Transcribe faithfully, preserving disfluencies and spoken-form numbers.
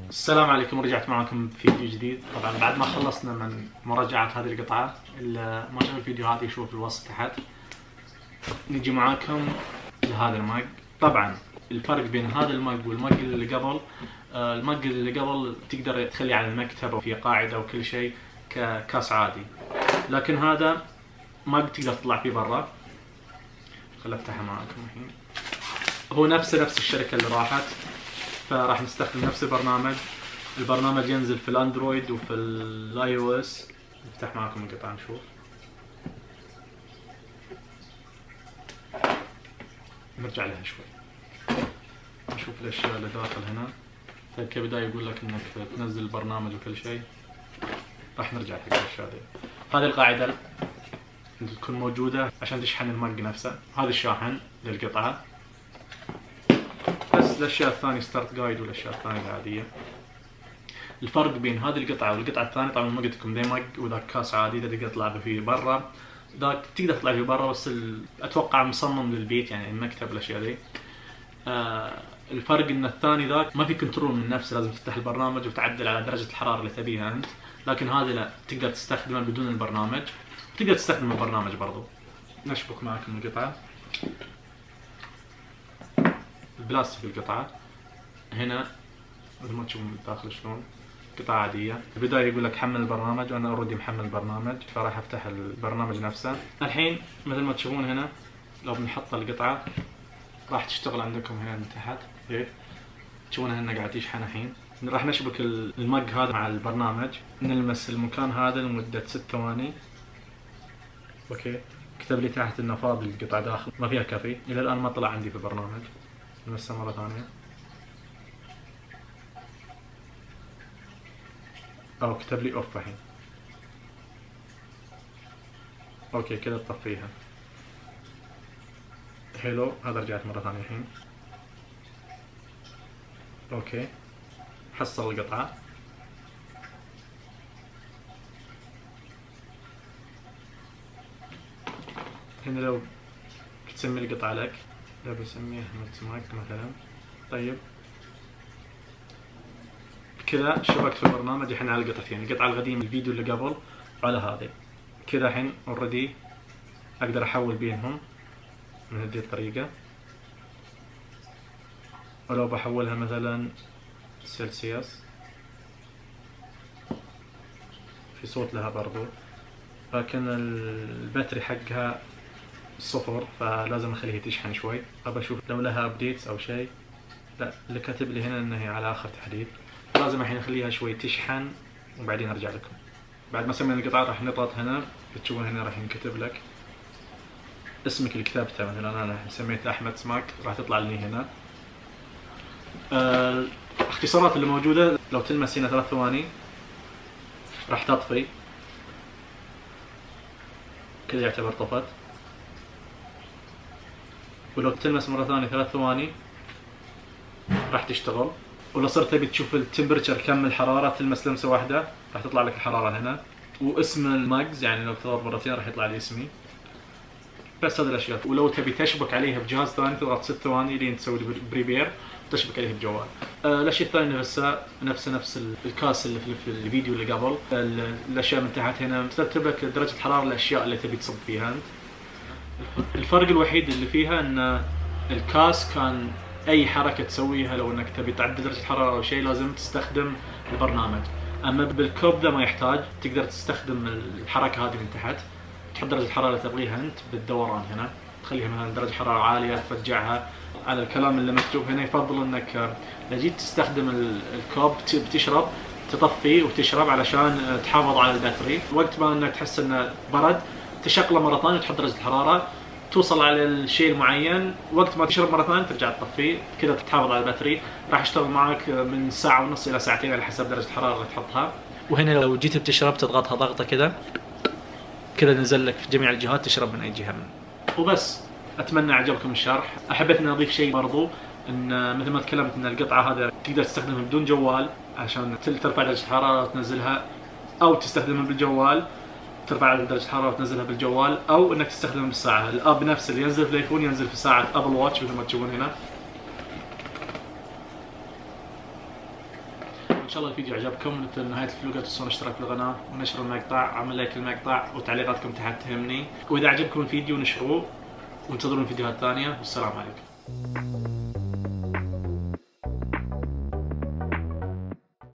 السلام عليكم، ورجعت معكم في فيديو جديد. طبعا بعد ما خلصنا من مراجعة هذه القطعة، اللي ما شاف الفيديو هذا يشوف الوصف تحت. نجي معاكم لهذا المج. طبعا الفرق بين هذا المج والمج اللي قبل، المج اللي قبل تقدر تخليه على المكتب وفي قاعدة وكل شيء ككاس عادي، لكن هذا مج تقدر تطلع فيه برا. خليني افتحها معاكم الحين. هو نفسه نفس الشركة اللي راحت، فراح نستخدم نفس البرنامج. البرنامج ينزل في الاندرويد وفي الاي او اس. نفتح معكم القطعة نشوف. نرجع لها شوي نشوف الاشياء اللي داخل هنا. طيب كبداية يقول لك انك تنزل البرنامج وكل شيء. راح نرجع حق الاشياء دي. هذه القاعدة اللي تكون موجودة عشان تشحن المج نفسه. هذا الشاحن للقطعة. بس الاشياء الثانية ستارت جايد والاشياء الثانية العادية. الفرق بين هذه القطعة والقطعة الثانية، طبعا ما قلت لكم ذا مج وذاك كاس عادي، ذا تقدر تلعب فيه برا، ذاك تقدر تطلع فيه برا بس ال... اتوقع مصمم للبيت، يعني المكتب الاشياء ذي. آه الفرق ان الثاني ذاك ما في كنترول من نفسه، لازم تفتح البرنامج وتعدل على درجة الحرارة اللي تبيها انت، لكن هذا لا، تقدر تستخدمه بدون البرنامج، تقدر تستخدم البرنامج برضو. نشبك معكم القطعة. البلاستيك القطعة هنا مثل ما تشوفون من الداخل شلون، قطعة عادية. في البداية يقول لك حمل البرنامج، وانا اوريدي محمل البرنامج فراح افتح البرنامج نفسه. الحين مثل ما تشوفون هنا لو بنحط القطعة راح تشتغل عندكم هنا من تحت. كيف تشوفونها هنا قاعد يشحن الحين. راح نشبك المج هذا مع البرنامج، نلمس المكان هذا لمدة ست ثواني. اوكي، كتب لي تحت انه فاضي القطعة داخل، ما فيها كافي. الى الان ما طلع عندي في البرنامج. نلمسها مرة ثانية. او كتب لي اوف الحين. اوكي كذا تطفيها. حلو، هذا رجعت مرة ثانية الحين. اوكي حصل القطعة. هنا لو تسمي القطعة لك، لو بسميها ماك مثلا. طيب كذا شبكت في البرنامج الحين على القطعتين، القطعة القديمة الفيديو اللي قبل وعلى هذه. كذا الحين اوريدي اقدر احول بينهم من هذه الطريقة. ولو بحولها مثلا سلسيوس، في صوت لها برضو، لكن الباتري حقها صفر فلازم اخليها تشحن شوي. ابى اشوف لو لها ابديتس او شيء. لا، اللي كاتب لي هنا انها على اخر تحديث. لازم الحين اخليها شوي تشحن وبعدين ارجع لكم. بعد ما سمينا القطعة راح نضغط هنا، تشوفون هنا راح ينكتب لك اسمك اللي كتبته. مثلا انا سميت احمد سماك، راح تطلع لي هنا آه الاختصارات اللي موجودة. لو تلمس هنا ثلاث ثواني راح تطفي، كذا يعتبر طفت. ولو تلمس مرة ثانية ثلاث ثواني راح تشتغل. ولو صرت تبي تشوف التمبرتشر كم الحرارة، تلمس لمسة واحدة راح تطلع لك الحرارة هنا، واسم المجز، يعني لو تضغط مرتين راح يطلع لي اسمي. بس هذه الاشياء. ولو تبي تشبك عليها بجهاز ثاني تضغط ست ثواني لين تسوي بريبير وتشبك عليها بجوال. آه الاشياء الثانية نفسها نفس نفس الكاس اللي في الفيديو اللي قبل. الاشياء من تحت هنا ترتب لك درجة الحرارة الاشياء اللي تبي تصب فيها انت. الفرق الوحيد اللي فيها ان الكاس كان اي حركة تسويها، لو انك تبي تعدل درجة الحرارة او شيء لازم تستخدم البرنامج. اما بالكوب ذا ما يحتاج، تقدر تستخدم الحركة هذه من تحت، تحط درجة الحرارة اللي تبغيها انت بالدوران هنا، تخليها مثلا درجة حرارة عالية ترجعها. على الكلام اللي مكتوب هنا يفضل انك اذا جيت تستخدم الكوب بتشرب تطفي وتشرب علشان تحافظ على الباتري. وقت ما انك تحس انه برد تشغله مرة ثانية وتحط درجة الحرارة، توصل على الشيء المعين، وقت ما تشرب مرة ثانية ترجع تطفيه، كذا تحافظ على الباتري. راح يشتغل معك من ساعة ونص إلى ساعتين على حسب درجة الحرارة اللي تحطها. وهنا لو جيت بتشرب تضغطها ضغطة كذا، كذا نزل لك في جميع الجهات، تشرب من أي جهة منه. وبس، أتمنى عجبكم الشرح. أحبيت إني أضيف شيء برضو، إن مثل ما تكلمت إن القطعة هذا تقدر تستخدمها بدون جوال عشان ترفع درجة الحرارة وتنزلها، أو تستخدمها بالجوال ترفع درجة الحرارة وتنزلها بالجوال، او انك تستخدمها بالساعة. الاب نفسه اللي ينزل في الايفون ينزل في ساعة ابل واتش مثل ما تشوفون هنا. ان شاء الله الفيديو عجبكم. في نهايه الفيديو لا تنسون الاشتراك في القناه ونشر المقطع، عمل لايك للمقطع وتعليقاتكم تحت تهمني، واذا عجبكم الفيديو نشروه وانتظرون فيديوهات ثانيه. والسلام عليكم.